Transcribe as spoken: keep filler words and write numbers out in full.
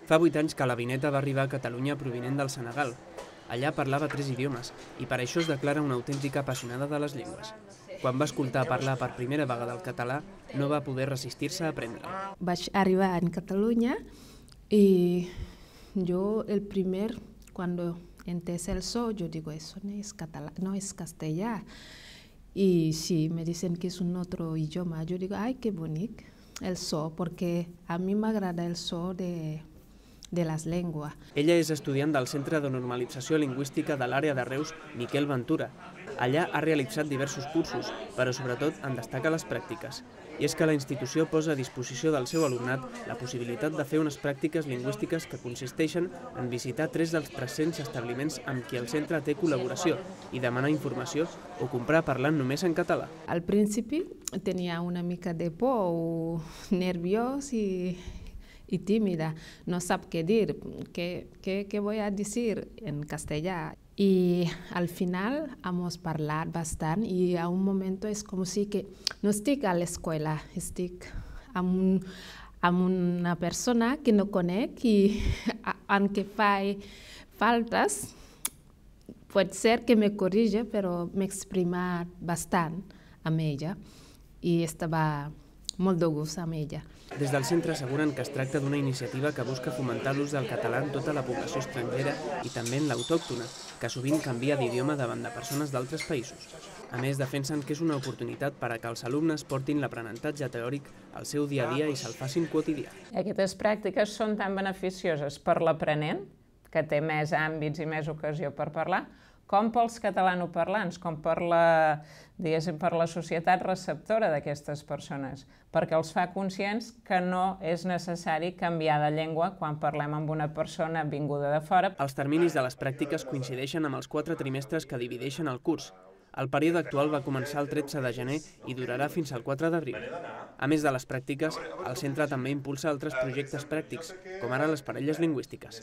Fa vuit anys que la Vineta va arribar a Catalunya provinent del Senegal. Allà parlava tres idiomes i per això es declara una autèntica apassionada de les llengües. Quan va escoltar parlar per primera vegada el català, no va poder resistir-se a aprendre'l. Vaig arribar a Catalunya i jo el primer, cuando entès el so, yo digo, eso no es catalán, no es castellà. Y si me dicen que es un otro idioma, yo digo, ay, qué bonito el so, porque a mí me agrada el so de, de las lenguas. Ella és estudiant del Centre de Normalització Lingüística de l'àrea de Reus, Miquel Ventura. Allà ha realitzat diversos cursos, però sobretot en destaca les pràctiques. I és que la institució posa a disposició del seu alumnat la possibilitat de fer unes pràctiques lingüístiques que consisteixen en visitar tres dels tres-cents establiments amb qui el centre té col·laboració i demanar informació o comprar parlant només en català. Al principi tenia una mica de por o nerviós i y tímida, no sabe qué decir, qué, qué, qué voy a decir en castellà. Y al final hemos parlat bastant y a un momento es como si que no estic a l'escola, estic amb, un, amb una persona que no conec i aunque faig faltes, pot ser que me corrige, però m'he exprimat bastant amb ella i estava molt de gust amb ella. Des del centre asseguren que es tracta d'una iniciativa que busca fomentar l'ús del català en tota la població estrangera i també en l'autòctona, que sovint canvia d'idioma davant de persones d'altres països. A més, defensen que és una oportunitat per a que els alumnes portin l'aprenentatge teòric al seu dia a dia i se'l facin quotidià. Aquestes pràctiques són tan beneficioses per l'aprenent, que té més àmbits i més ocasió per parlar, com pels catalanoparlants, com per la, diguéssim, per la societat receptora d'aquestes persones, perquè els fa conscients que no és necessari canviar de llengua quan parlem amb una persona vinguda de fora. Els terminis de les pràctiques coincideixen amb els quatre trimestres que divideixen el curs. El període actual va començar el tretze de gener i durarà fins al quatre d'abril. A més de les pràctiques, el centre també impulsa altres projectes pràctics, com ara les parelles lingüístiques.